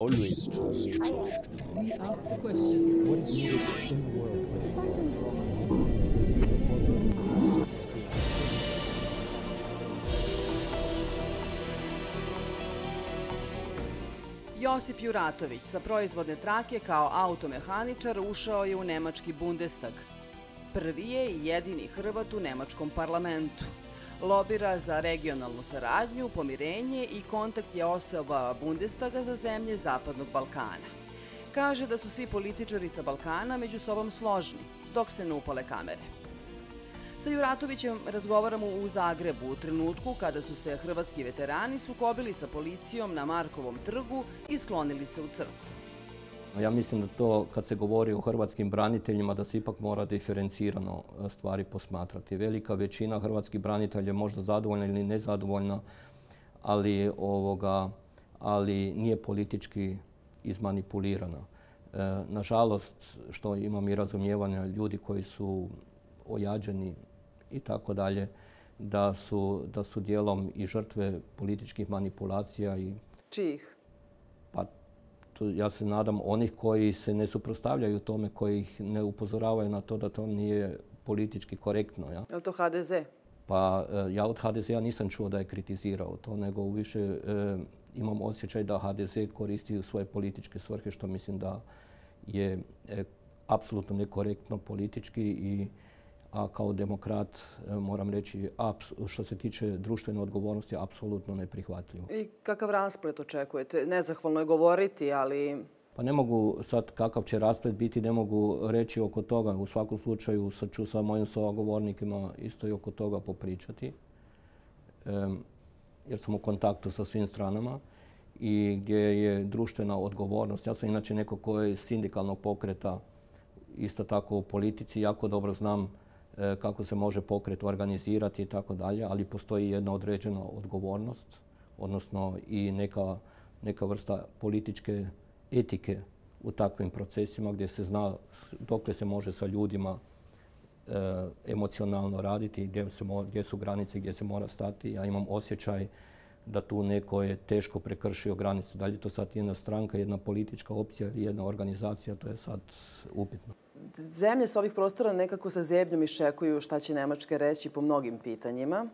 Always trust. We ask the questions. What is needed in the world? Josip Juratović sa proizvodne trake kao automehaničar ušao je u nemački Bundestag. Prvi je i jedini Hrvat u nemačkom parlamentu. Lobira za regionalnu saradnju, pomirenje i kontakt je osoba Bundestaga za zemlje Zapadnog Balkana. Kaže da su svi političari sa Balkana među sobom složni, dok se ne upale kamere. Sa Juratovićem razgovaramo u Zagrebu u trenutku kada su se hrvatski veterani sukobili sa policijom na Markovom trgu i sklonili se u crkvu. Ja mislim da to, kad se govori o hrvatskim braniteljima, da se ipak mora diferencirano stvari posmatrati. Velika većina hrvatskih branitelja je možda zadovoljna ili nezadovoljna, ali nije politički izmanipulirana. Nažalost, što imam i razumijevanja ljudi koji su ojađeni i tako dalje, da su dijelom i žrtve političkih manipulacija. Čijih? Pa ja se nadam onih koji se ne suprotstavljaju tome, koji ih ne upozoravaju na to da to nije politički korektno. Ja? Je li to HDZ? Pa ja od HDZ-a nisam čuo da je kritizirao to, nego više imam osjećaj da HDZ koristi u svoje političke svrhe, što mislim da je apsolutno nekorektno politički a kao demokrat moram reći što se tiče društvene odgovornosti apsolutno neprihvatljivo. I kakav rasplet očekujete? Nezahvalno je govoriti, ali... Pa ne mogu sad kakav će rasplet biti, ne mogu reći oko toga. U svakom slučaju sad ću sa mojim sugovornikima isto i oko toga popričati. Jer sam u kontaktu sa svim stranama i gdje je društvena odgovornost. Ja sam inače neko koji je sindikalnog pokreta, isto tako u politici, jako dobro znam kako se može pokret organizirati i tako dalje, ali postoji jedna određena odgovornost, odnosno i neka vrsta političke etike u takvim procesima gdje se zna dokle se može sa ljudima emocionalno raditi, gdje su granice, gdje se mora stati. Ja imam osjećaj da tu neko je teško prekršio granicu. Da li je to sad jedna stranka, jedna politička opcija ili jedna organizacija, to je sad upitno. Zemlje sa ovih prostora nekako sa zebnjom iščekuju šta će Nemačka reći po mnogim pitanjima.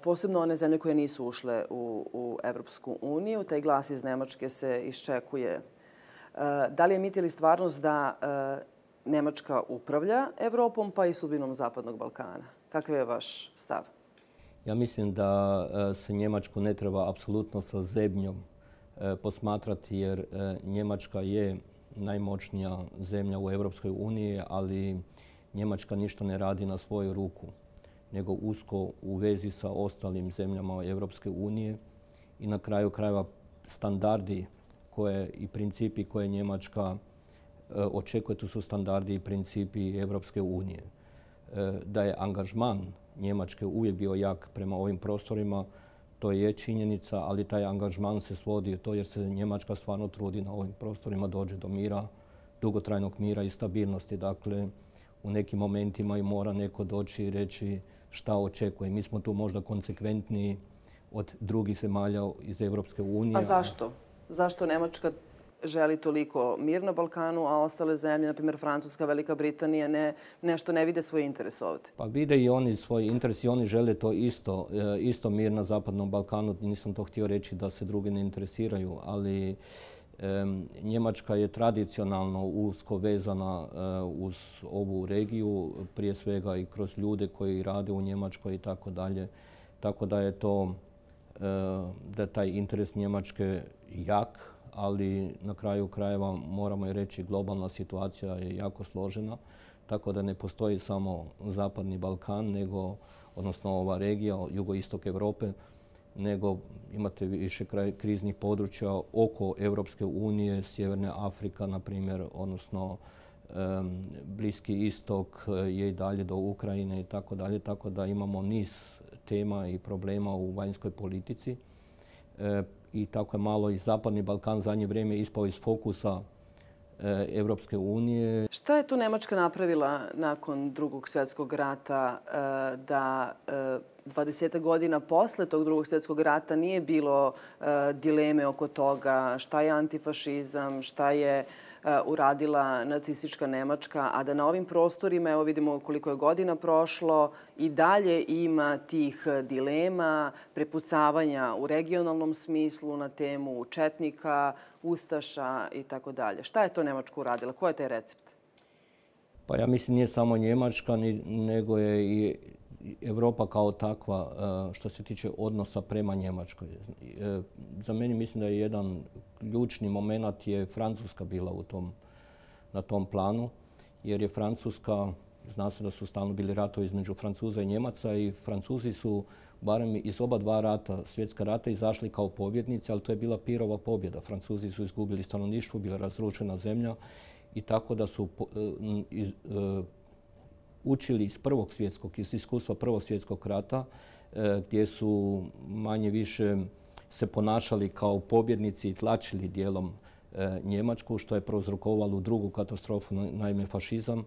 Posebno one zemlje koje nisu ušle u Evropsku uniju. Taj glas iz Nemačke se iščekuje. Da li je mit ili stvarnost da Nemačka upravlja Evropom pa i sudbinom Zapadnog Balkana? Kakav je vaš stav? Ja mislim da se Njemačku ne treba apsolutno sa zebnjom posmatrati jer Njemačka je najmoćnija zemlja u Europskoj uniji, ali Njemačka ništa ne radi na svoju ruku, nego usko u vezi sa ostalim zemljama Europske unije i na kraju krajeva standardi i principi koje Njemačka očekuje, to su standardi i principi Europske unije. Da je angažman Njemačke uvijek bio jak prema ovim prostorima, to je činjenica, ali taj angažman se svodi to jer se Njemačka stvarno trudi na ovim prostorima dođe do mira, dugotrajnog mira i stabilnosti. Dakle, u nekim momentima i mora neko doći i reći šta očekuje. Mi smo tu možda konsekventniji od drugih zemalja iz Europske unije. A zašto? Zašto Nemačka želi toliko mir na Balkanu, a ostale zemlje, na primjer Francuska, Velika Britanija, nešto ne vide svoj interes ovdje? Pa vide i oni svoj interes i oni žele to isto mir na Zapadnom Balkanu. Nisam to htio reći da se drugi ne interesiraju, ali Njemačka je tradicionalno usko vezana uz ovu regiju, prije svega i kroz ljude koji rade u Njemačkoj i tako dalje. Tako da je da je taj interes Njemačke jak, ali na kraju krajeva moramo i reći globalna situacija je jako složena, tako da ne postoji samo Zapadni Balkan, odnosno ova regija, jugoistok Europe, nego imate više kriznih područja oko Europske unije, Sjeverne Afrika, na primjer, odnosno Bliski istok je i dalje do Ukrajine i tako dalje, tako da imamo niz tema i problema u vanjskoj politici. I tako je malo i Zapadni Balkan zadnje vrijeme ispao iz fokusa Europske unije. Šta je tu Nemačka napravila nakon Drugog svjetskog rata 20 godina posle tog Drugog svjetskog rata nije bilo dileme oko toga šta je antifašizam, šta je uradila nacistička Nemačka, a da na ovim prostorima, evo vidimo koliko je godina prošlo, i dalje ima tih dilema, prepucavanja u regionalnom smislu na temu četnika, ustaša i tako dalje. Šta je to Nemačka uradila? Ko je taj recept? Pa ja mislim nije samo Njemačka, nego je i Europa kao takva što se tiče odnosa prema Njemačkoj. Za mene mislim da je jedan ključni moment je Francuska bila na tom planu, jer je Francuska, zna se da su stalno bili ratovi između Francuza i Njemaca i Francuzi su barem iz oba dva rata, svjetska rata, izašli kao pobjednici, ali to je bila pirova pobjeda. Francuzi su izgubili stanovništvo, bila razrušena zemlja i tako da su učili iz iskustva Prvog svjetskog rata, gdje su manje više se ponašali kao pobjednici i tlačili dijelom Njemačku, što je prouzrokovalo drugu katastrofu, naime fašizam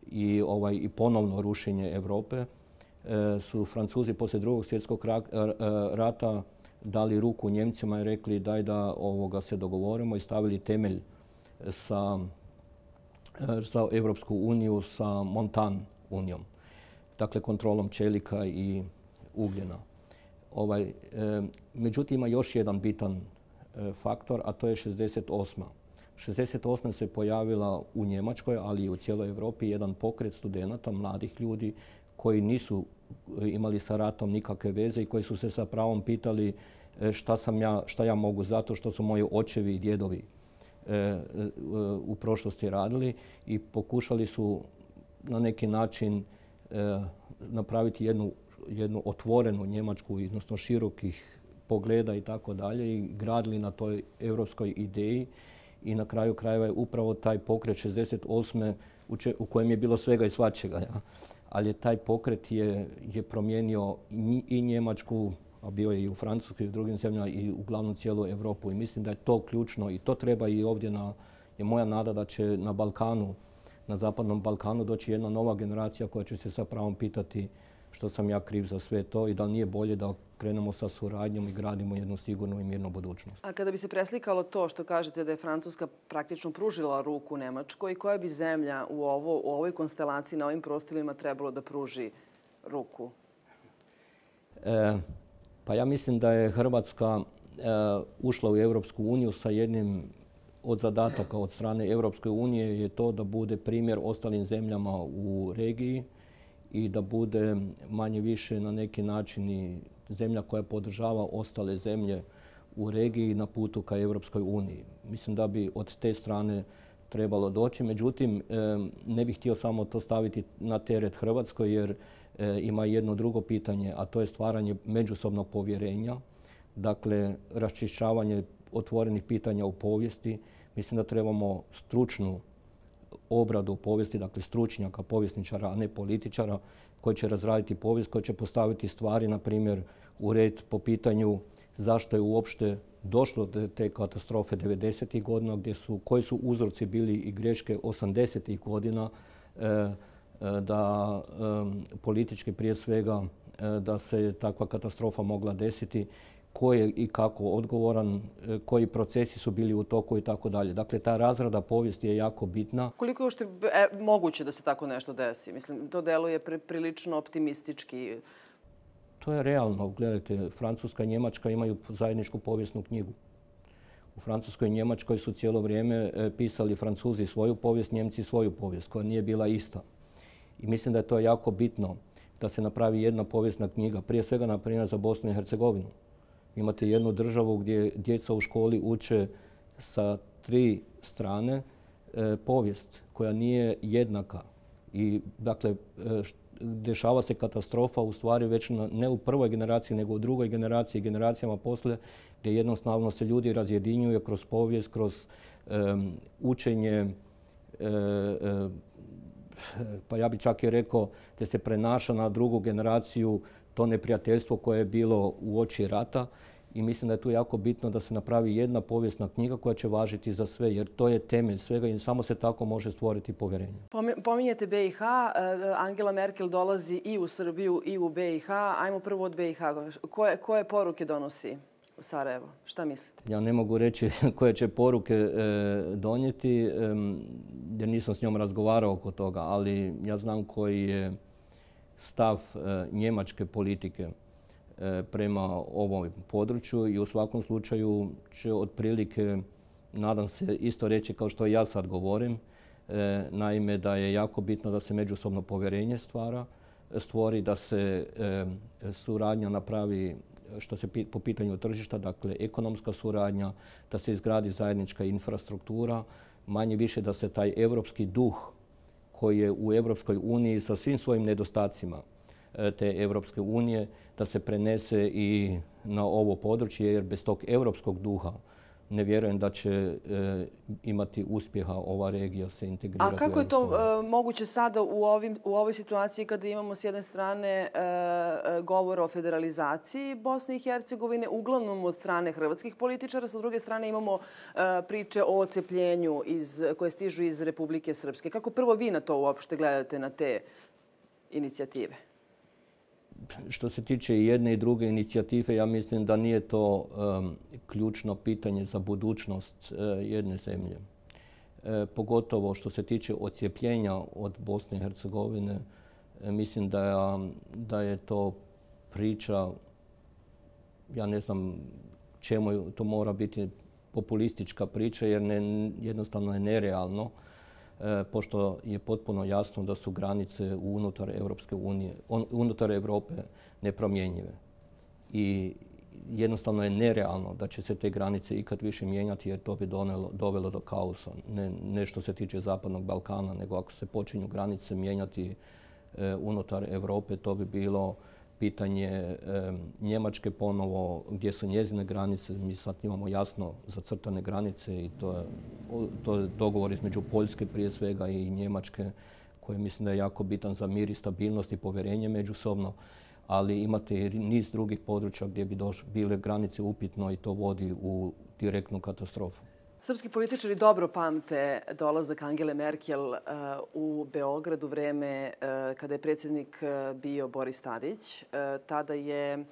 i ponovno rušenje Europe. Su Francuzi poslije Drugog svjetskog rata dali ruku Njemcima i rekli daj da se dogovorimo i stavili temelj za Europsku uniju sa Montan unijom, dakle kontrolom čelika i ugljena. Međutim, ima još jedan bitan faktor, a to je 68. 68. se pojavila u Njemačkoj, ali i u cijeloj Europi jedan pokret studenata, mladih ljudi koji nisu imali sa ratom nikakve veze i koji su se sa pravom pitali šta ja mogu zato što su moji očevi i djedovi u prošlosti radili i pokušali su na neki način napraviti jednu otvorenu Njemačku, odnosno širokih pogleda i tako dalje i gradili na toj europskoj ideji i na kraju krajeva je upravo taj pokret 68. u kojem je bilo svega i svačega. Ja. Ali taj pokret je promijenio i Njemačku, a bio je i u Francuskoj i u drugim zemljama i uglavnom cijelu Europu. I mislim da je to ključno i to treba i ovdje je moja nada da će na Balkanu, na Zapadnom Balkanu doći jedna nova generacija koja će se sa pravom pitati što sam ja kriv za sve to i da nije bolje da krenemo sa suradnjom i gradimo jednu sigurnu i mirnu budućnost. A kada bi se preslikalo to što kažete da je Francuska praktično pružila ruku Nemačkoj, koja bi zemlja u ovoj konstelaciji na ovim prostorima trebalo da pruži ruku? Pa ja mislim da je Hrvatska ušla u Europsku uniju sa jednim od zadataka od strane Europske unije je to da bude primjer ostalim zemljama u regiji i da bude manje više na neki način i zemlja koja podržava ostale zemlje u regiji na putu ka Europskoj uniji. Mislim da bi od te strane trebalo doći. Međutim, ne bih htio samo to staviti na teret Hrvatskoj jer ima jedno drugo pitanje, a to je stvaranje međusobnog povjerenja, dakle raščišćavanje otvorenih pitanja u povijesti. Mislim da trebamo stručnu obradu povijesti, dakle stručnjaka, povjesničara, a ne političara, koji će razraditi povijest, koji će postaviti stvari, na primjer, u red po pitanju zašto je uopšte došlo do te katastrofe 90. godina, koji su uzroci bili i greške 80. godina, da politički prije svega da se takva katastrofa mogla desiti, ko je i kako odgovoran, koji procesi su bili u toku i tako dalje. Dakle, ta razrada povijesti je jako bitna. Koliko je uopšte moguće da se tako nešto desi? Mislim, to deluje prilično optimistički. To je realno. Gledajte, Francuska i Njemačka imaju zajedničku povijesnu knjigu. U Francuskoj i Njemačkoj su cijelo vrijeme pisali Francuzi svoju povijest, Njemci svoju povijest, koja nije bila ista. I mislim da je to jako bitno da se napravi jedna povijesna knjiga, prije svega, na primjer, za Bosnu i Hercegovinu. Imate jednu državu gdje djeca u školi uče sa 3 strane povijest koja nije jednaka. I dakle, dešava se katastrofa u stvari već ne u prvoj generaciji nego u drugoj generaciji, generacijama poslije, gdje jednostavno se ljudi razjedinjuju kroz povijest, kroz učenje, pa ja bih čak i rekao da se prenaša na drugu generaciju to neprijateljstvo koje je bilo uoči rata I mislim da je tu jako bitno da se napravi jedna povijesna knjiga koja će važiti za sve, jer to je temelj svega i samo se tako može stvoriti povjerenje. Pominjete BiH, Angela Merkel dolazi i u Srbiju i u BiH. Ajmo prvo od BiH. Koje poruke donosi u Sarajevo? Šta mislite? Ja ne mogu reći koje će poruke donijeti, jer nisam s njom razgovarao oko toga, ali ja znam koji je stav njemačke politike prema ovom području i u svakom slučaju će otprilike, nadam se, isto reći kao što ja sad govorim. Naime, da je jako bitno da se međusobno povjerenje stvori, da se suradnja napravi što se po pitanju tržišta, dakle ekonomska suradnja, da se izgradi zajednička infrastruktura, manje više da se taj europski duh koji je u Europskoj uniji sa svim svojim nedostacima te Europske unije, da se prenese i na ovo područje, jer bez tog europskog duha ne vjerujem da će imati uspjeha ova regija se integrirati. A kako je to moguće sada u ovoj situaciji kada imamo s jedne strane govor o federalizaciji Bosne i Hercegovine, uglavnom od strane hrvatskih političara, sa druge strane imamo priče o odcepljenju koje stižu iz Republike Srpske. Kako prvo vi na to uopšte gledate, na te inicijative? Što se tiče i jedne i druge inicijative, ja mislim da nije to ključno pitanje za budućnost jedne zemlje. Pogotovo što se tiče odcijepljenja od Bosne i Hercegovine, mislim da je to priča, ja ne znam čemu to mora biti populistička priča, jer jednostavno je nerealno, pošto je potpuno jasno da su granice unutar Europske unije, unutar Europe nepromjenjive. I jednostavno je nerealno da će se te granice ikad više mijenjati, jer to bi dovelo do kaosa. Ne što se tiče Zapadnog Balkana, nego ako se počinju granice mijenjati unutar Europe, to bi bilo pitanje Njemačke ponovo, gdje su njezine granice. Mi sad imamo jasno zacrtane granice i to je dogovor između Poljske prije svega i Njemačke, koji mislim da je jako bitan za mir i stabilnost i povjerenje međusobno. Ali imate i niz drugih područja gdje bi bile granice upitno i to vodi u direktnu katastrofu. Srpski političari dobro pamte dolazak Angele Merkel u Beograd u vreme kada je predsjednik bio Boris Tadić. Tada je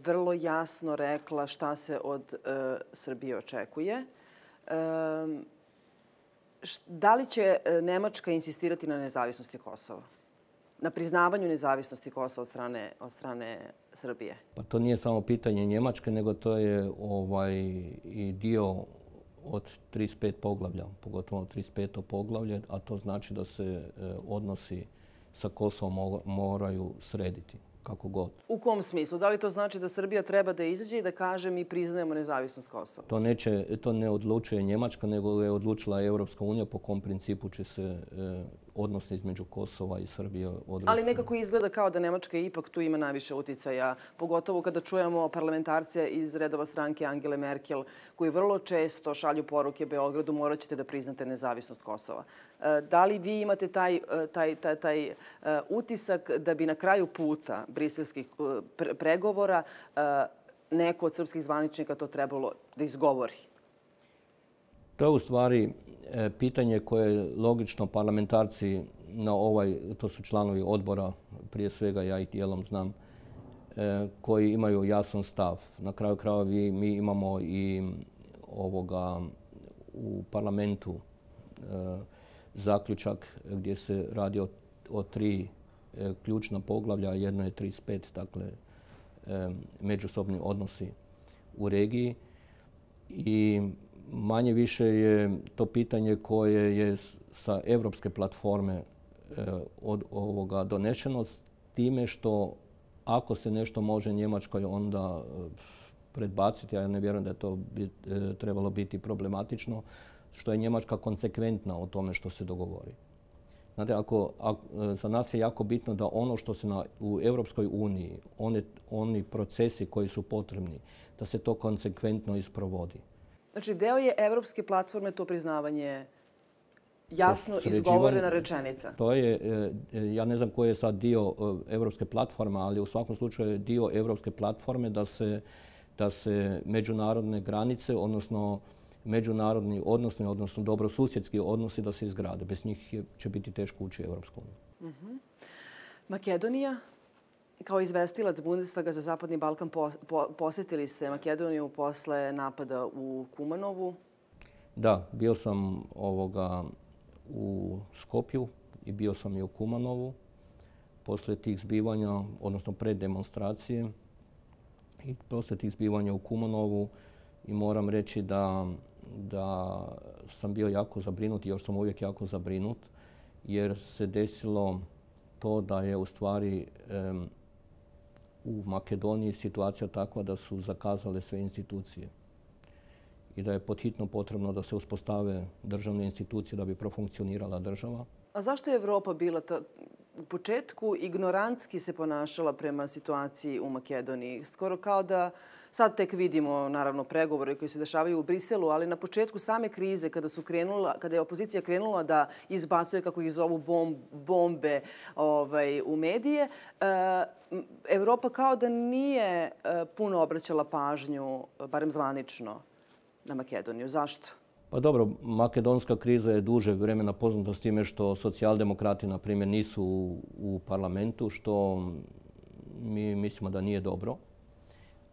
vrlo jasno rekla šta se od Srbije očekuje. Da li će Nemačka insistirati na nezavisnosti Kosova? Na priznavanju nezavisnosti Kosova od strane Srbije? Pa to nije samo pitanje Njemačke, nego to je i dio od 35 poglavlja, pogotovo 35. poglavlje, a to znači da se odnosi sa Kosovom moraju srediti, kako god. U kom smislu? Da li to znači da Srbija treba da izađe i da kaže mi priznajemo nezavisnost Kosova? To ne odlučuje Njemačka, nego je odlučila Europska unija po kom principu će se odnosi između Kosova i Srbije odlučiti. Ali nekako izgleda kao da Nemačka ipak tu ima najviše uticaja, pogotovo kada čujemo parlamentarce iz redova stranke Angele Merkel, koji vrlo često šalju poruke Beogradu, morat ćete da priznate nezavisnost Kosova. Da li vi imate taj utisak da bi na kraju puta briselskih pregovora neko od srpskih zvaničnika to trebalo da izgovori? To je u stvari pitanje koje logično parlamentarci to su članovi odbora, prije svega ja ih dijelom znam, koji imaju jasan stav. Na kraju krajeva mi imamo i u parlamentu zaključak gdje se radi o 3 ključna poglavlja. Jedno je 35, dakle međusobni odnosi u regiji. I manje više je to pitanje koje je sa evropske platforme od ovoga donešeno, s time što ako se nešto može Njemačkoj onda predbaciti, a ja ne vjerujem da je to trebalo biti problematično, što je Njemačka konsekventna o tome što se dogovori. Znate, za nas je jako bitno da ono što se u Europskoj uniji, oni procesi koji su potrebni, da se to konsekventno isprovodi. Znači, deo je evropske platforme to priznavanje jasno izgovorena rečenica. To je, ja ne znam koji je sad dio evropske platforme, ali u svakom slučaju je dio evropske platforme da se međunarodne granice, odnosno međunarodni odnosi, odnosno dobrosusjedski odnosi da se izgrade. Bez njih će biti teško ući u Europsku uniju. Makedonija, kao izvestilac Bundestaga za Zapadni Balkan, posjetili ste Makedoniju posle napada u Kumanovu. Da, bio sam u Skopju i bio sam i u Kumanovu posle tih zbivanja, odnosno pred demonstracije i posle tih zbivanja u Kumanovu, i moram reći da sam bio jako zabrinut i još sam uvijek jako zabrinut jer se desilo to da je u stvari u Makedoniji situacija takva da su zakazale sve institucije i da je podhitno potrebno da se uspostave državne institucije da bi profunkcionirala država. A zašto je Evropa bila u početku ignorantski se ponašala prema situaciji u Makedoniji? Skoro kao da sad tek vidimo, naravno, pregovore koji se dešavaju u Briselu, ali na početku same krize, kada je opozicija krenula da izbacuje, kako ih zovu, bombe u medije, Evropa kao da nije puno obraćala pažnju, barem zvanično, na Makedoniju. Zašto? Pa dobro, makedonska kriza je duže vremena poznata s time što socijaldemokrati, na primjer, nisu u parlamentu, što mi mislimo da nije dobro.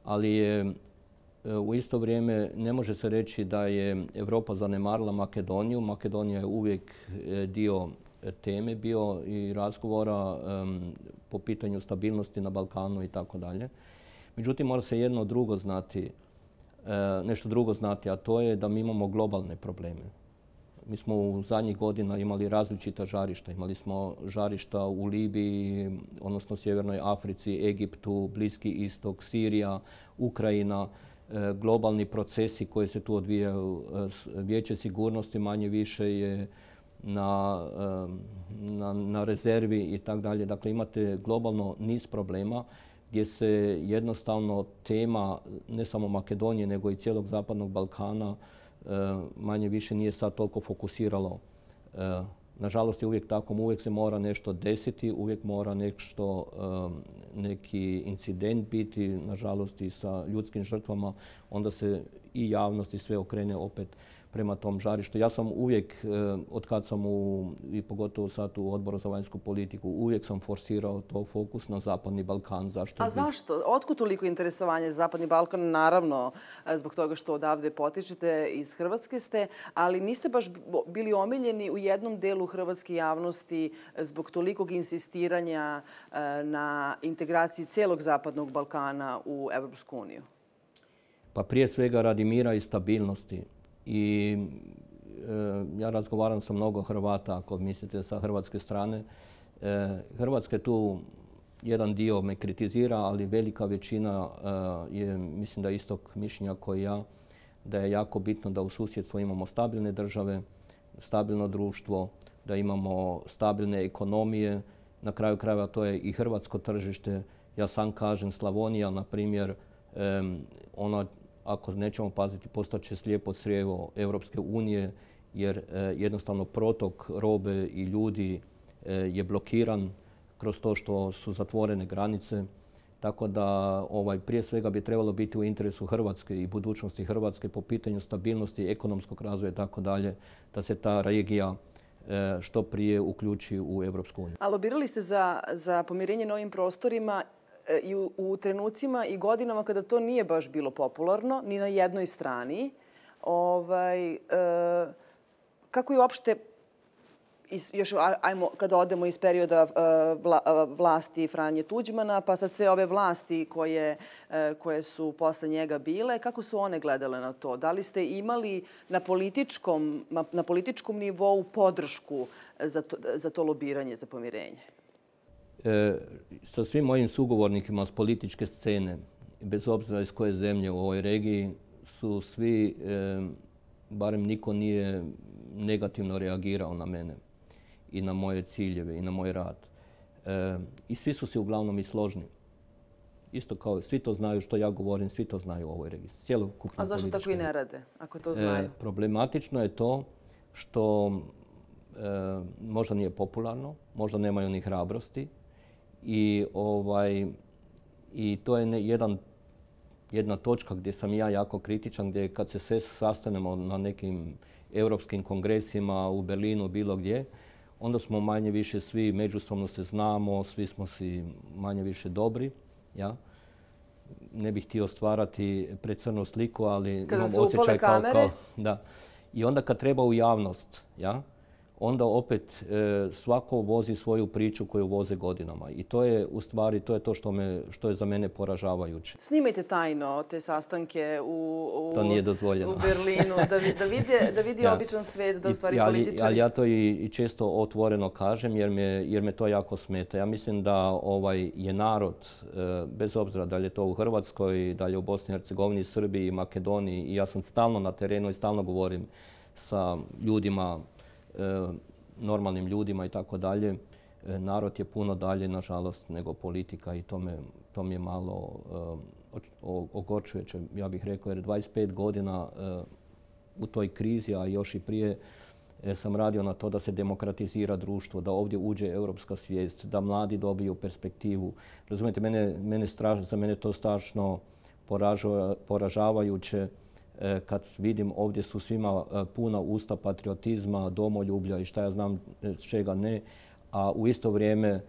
Ali je u isto vrijeme ne može se reći da je Europa zanemarila Makedoniju. Makedonija je uvijek dio teme bio i razgovora po pitanju stabilnosti na Balkanu i tako dalje. Međutim, mora se nešto drugo znati, a to je da mi imamo globalne probleme. Mi smo u zadnjih godina imali različita žarišta. Imali smo žarišta u Libiji, odnosno Sjevernoj Africi, Egiptu, Bliski istok, Sirija, Ukrajina, globalni procesi koji se tu odvijaju. Vijeće sigurnosti manje više je na rezervi i tako dalje. Dakle, imate globalno niz problema gdje se jednostavno tema ne samo Makedonije nego i cijelog Zapadnog Balkana manje više nije sad toliko fokusiralo. Nažalost je uvijek tako, uvijek se mora nešto desiti, uvijek mora neki incident biti, nažalost i sa ljudskim žrtvama, onda se i javnost i sve okrene opet prema tom žarištu. Ja sam uvijek, od kad sam i pogotovo sad u Odboru za vanjsku politiku, uvijek sam forsirao to fokus na Zapadni Balkan. Zašto? A zašto? Otkud toliko interesovanje za Zapadni Balkan? Naravno, zbog toga što odavde potičete, iz Hrvatske ste, ali niste baš bili omiljeni u jednom delu hrvatske javnosti zbog tolikog insistiranja na integraciji cijelog Zapadnog Balkana u Evropsku uniju. Pa prije svega radi mira i stabilnosti. I ja razgovaram sa mnogo Hrvata, ako mislite sa hrvatske strane. Hrvatska je tu, jedan dio me kritizira, ali velika većina je, mislim da je istog mišljenja kao i ja, da je jako bitno da u susjedstvu imamo stabilne države, stabilno društvo, da imamo stabilne ekonomije. Na kraju krajeva to je i hrvatsko tržište. Ja sam kažem, Slavonija, na primjer, ona, ako nećemo paziti, postaće slijepo crijevo Europske unije, jer jednostavno protok robe i ljudi je blokiran kroz to što su zatvorene granice. Tako da prije svega bi trebalo biti u interesu Hrvatske i budućnosti Hrvatske po pitanju stabilnosti, ekonomskog razvoja i tako dalje, da se ta regija što prije uključi u Europsku uniju. A lobirali ste za pomirenje na ovim prostorima i u trenucima i godinama kada to nije baš bilo popularno, ni na jednoj strani. Kako je uopšte, još kada odemo iz perioda vlasti Franje Tuđmana, pa sad sve ove vlasti koje su posle njega bile, kako su one gledale na to? Da li ste imali na političkom nivou podršku za to lobiranje, za pomirenje? Sa svim mojim sugovornikima s političke scene, bez obzira iz koje zemlje u ovoj regiji, su svi, barem niko nije negativno reagirao na mene i na moje ciljeve i na moj rad. I svi su si uglavnom i složni. Isto kao svi to znaju što ja govorim, svi to znaju u ovoj regiji. A zašto tako i ne rade, ako to znaju? Problematično je to što možda nije popularno, možda nemaju ni hrabrosti. I to je jedna točka gdje sam ja jako kritičan, gdje kad se sve sastanemo na nekim europskim kongresima u Berlinu, bilo gdje, onda smo manje više svi međusobno se znamo, svi smo si manje više dobri. Ja? Ne bih htio stvarati precrnu sliku, ali kada imam se osjećaj upale kamere? da. I onda kad treba u javnost, ja? Onda opet svako vozi svoju priču koju voze godinama. I to je u stvari to je to što je za mene poražavajuće. Snimajte tajno te sastanke To nije dozvoljeno. u Berlinu, da vidi običan svet, da u stvari političari... Ali ja to i često otvoreno kažem jer me to jako smeta. Ja mislim da je narod, bez obzira da li je to u Hrvatskoj, da li je u Bosni i Hercegovini, Srbiji, Makedoniji, i ja sam stalno na terenu i stalno govorim sa ljudima, normalnim ljudima i tako dalje. Narod je puno dalje, nažalost, nego politika i to mi je malo ogorčujuće, ja bih rekao, jer 25 godina u toj krizi, a još i prije, sam radio na to da se demokratizira društvo, da ovdje uđe europska svijest, da mladi dobiju perspektivu. Razumijete, za mene to strašno poražavajuće kad vidim ovdje su svima puna usta patriotizma, domoljublja i šta ja znam čega ne, a u isto vrijeme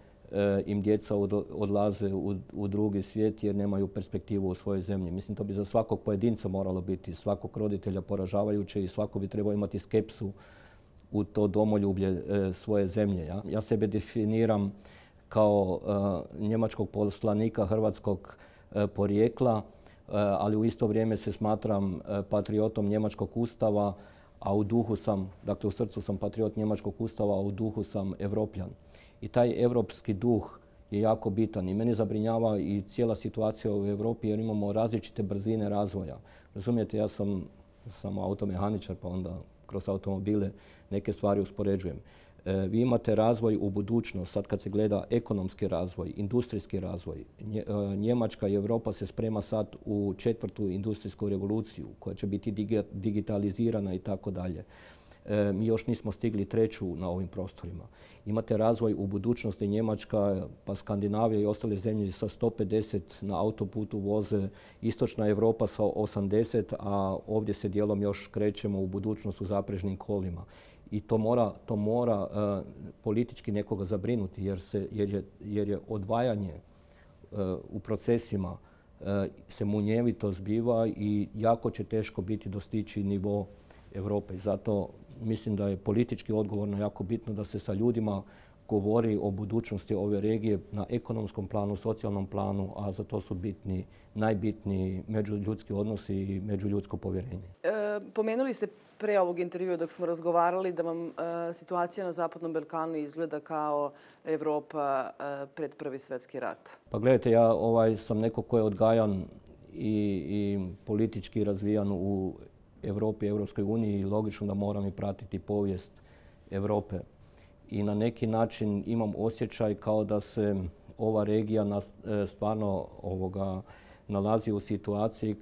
im djeca odlaze u drugi svijet jer nemaju perspektivu u svojoj zemlji. Mislim, to bi za svakog pojedinca moralo biti, svakog roditelja poražavajuće i svako bi trebao imati skepsu u to domoljublje svoje zemlje. Ja sebe definiram kao njemačkog poslanika hrvatskog porijekla, ali u isto vrijeme se smatram patriotom njemačkog ustava, a u duhu sam, dakle u srcu sam patriot njemačkog ustava, a u duhu sam Evropljan. I taj europski duh je jako bitan i mene zabrinjava i cijela situacija u Europi jer imamo različite brzine razvoja. Razumijete, ja sam automehaničar pa onda kroz automobile neke stvari uspoređujem. Vi imate razvoj u budućnost, sad kad se gleda ekonomski razvoj, industrijski razvoj. Njemačka i Europa se sprema sad u 4. industrijsku revoluciju koja će biti digitalizirana i tako dalje. Mi još nismo stigli 3. na ovim prostorima. Imate razvoj u budućnosti Njemačka, pa Skandinavija i ostale zemlje sa 150 na autoputu voze, istočna Europa sa 80, a ovdje se dijelom još krećemo u budućnost u zaprežnim kolima. I to mora politički nekoga zabrinuti jer je odvajanje u procesima se munjevito zbiva i jako će teško biti dostići nivo Europe. Zato mislim da je politički odgovorno jako bitno da se sa ljudima govori o budućnosti ove regije na ekonomskom planu, socijalnom planu, a za to su najbitniji međuljudski odnosi i međuljudsko povjerenje. Pomenuli ste pre ovog intervjua dok smo razgovarali da vam situacija na Zapadnom Balkanu izgleda kao Evropa pred Prvi svjetski rat. Pa gledajte, ja sam neko ko je odgajan i politički razvijan u Europi, Europskoj uniji i logično da moram i pratiti povijest Europe. I na neki način imam osjećaj kao da se ova regija stvarno nalazi u situaciji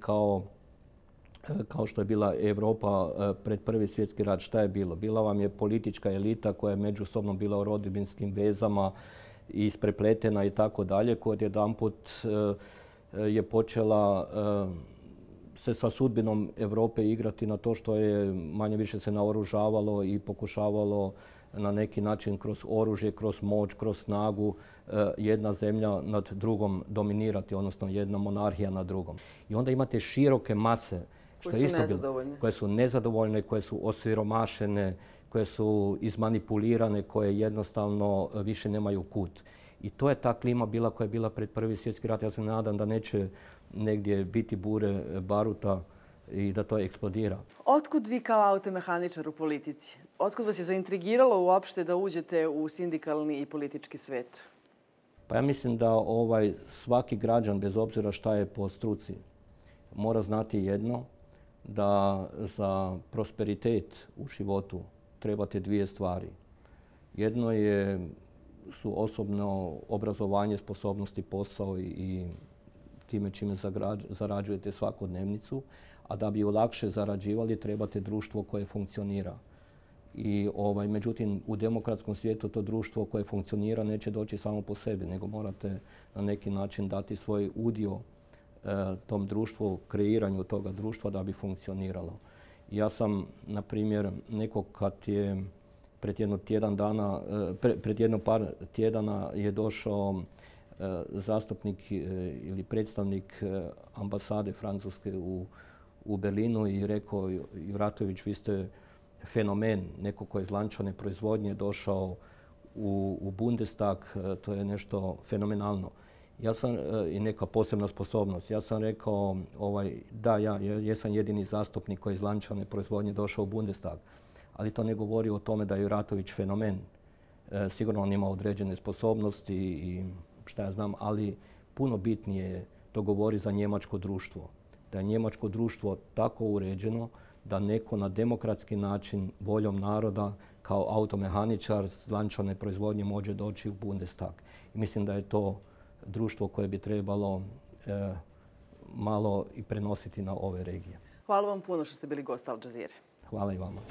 kao što je bila Europa pred Prvi svjetski rat. Šta je bilo? Bila vam je politička elita koja je međusobno bila u rodbinskim vezama i isprepletena i tako dalje, koja odjedanput je počela se sa sudbinom Europe igrati na to što je manje više se naoružavalo i pokušavalo na neki način kroz oružje, kroz moć, kroz snagu jedna zemlja nad drugom dominirati, odnosno jedna monarhija nad drugom. I onda imate široke mase koje su nezadovoljne, koje su osiromašene, koje su izmanipulirane, koje jednostavno više nemaju kut. I to je ta klima bila koja je bila pred Prvi svjetski rat. Ja se nadam da neće negdje biti bure baruta i da to eksplodira. Otkud vi kao automehaničar u politici? Otkud vas je zaintrigiralo uopšte da uđete u sindikalni i politički svet? Pa ja mislim da svaki građan, bez obzira šta je po struci, mora znati jedno, da za prosperitet u životu trebate 2 stvari. Jedno su osobno obrazovanje, sposobnosti, posao i time čime zarađujete svakodnevnicu, a da bi ju lakše zarađivali trebate društvo koje funkcionira. I međutim, u demokratskom svijetu to društvo koje funkcionira neće doći samo po sebi, nego morate na neki način dati svoj udio tom društvu, kreiranju toga društva da bi funkcioniralo. Ja sam, na primjer, nekog kad je pred jedno par tjedana je došao zastupnik ili predstavnik ambasade Francuske u Berlinu i rekao: Juratović, vi ste fenomen, neko ko je iz lančane proizvodnje došao u Bundestag, to je nešto fenomenalno. Ja sam i neka posebna sposobnost. Ja sam rekao da, ja jesam jedini zastupnik koji je iz lančane proizvodnje došao u Bundestag. Ali to ne govori o tome da je Juratović fenomen. Sigurno on ima određene sposobnosti i šta ja znam, ali puno bitnije to govori za njemačko društvo. Da je njemačko društvo tako uređeno da neko na demokratski način, voljom naroda, kao automehaničar s lančane proizvodnje može doći u Bundestag. I mislim da je to društvo koje bi trebalo malo i prenositi na ove regije. Hvala vam puno što ste bili gost Al Jazeere. Hvala i vama.